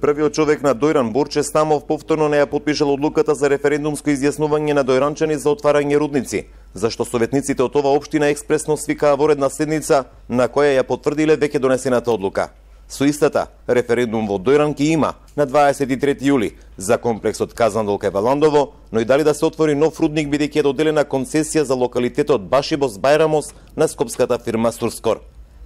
Првиот човек на Дојран, Борче Стамов, повторно не ја потпишал одлуката за референдумско изјаснување на дојранчани за отварање рудници, зашто советниците од оваа општина експресно свикаа во редна седница на која ја потврдиле веќе донесената одлука. Со истата, референдум во Дојран ки има на 23 јули за комплексот Казандол кај Валандово, но и дали да се отвори нов рудник бидејќи е доделена концесија за локалитетот Башибос Бајрамос на скопската фирма Сурскор.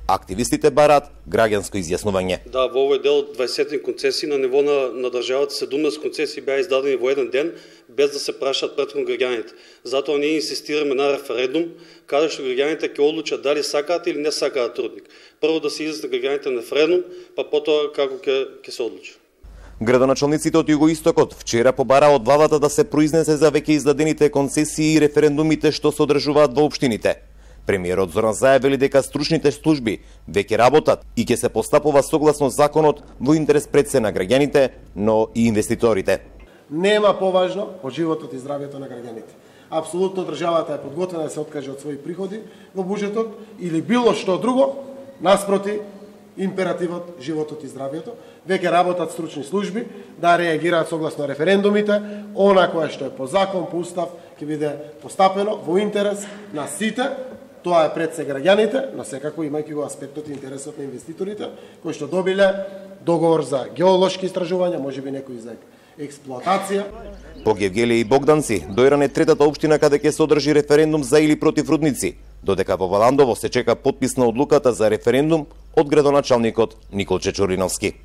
Активистите бараат граѓанско изјаснување. Да, во овој дел 20 концесии на ниво на државата, 17 концесии беа издадени во еден ден без да се прашаат претходно граѓаните. Затоа ние инсистираме на референдум каде што граѓаните ќе одлучат дали сакаат или не сакаат рудник. Прво да се изјаснат граѓаните на референдум, па потоа како ќе се одлучи. Градоначалниците од Југоистокот вчера побараа од владата да се произнесе за веќе издадените концесии и референдумите што се одржуваат во општините. Премиерот Зоран Заев вели дека стручните служби веќе работат и ќе се постапува согласно законот во интерес пред се на граѓаните, но и инвеститорите. Нема поважно од животот и здравјето на граѓаните. Апсолутно државата е подготвена да се откаже од своји приходи во буџетот или било што друго, наспроти императивот животот и здравјето. Веќе работат стручни служби да реагираат согласно референдумите, она кое што е по закон, по устав, ќе биде постапено во интерес на сите. Тоа е пред се граѓаните, но секако имајќи го аспектот и интересот на инвеститорите, кои што добиле договор за геолошки истражувања, можеби некои за експлоатација. По Гевгелија и Богданци, Дојран е третата општина каде ќе се одржи референдум за или против рудници, додека во Валандово се чека потпис на одлуката за референдум од градоначалникот Никол Чечориновски.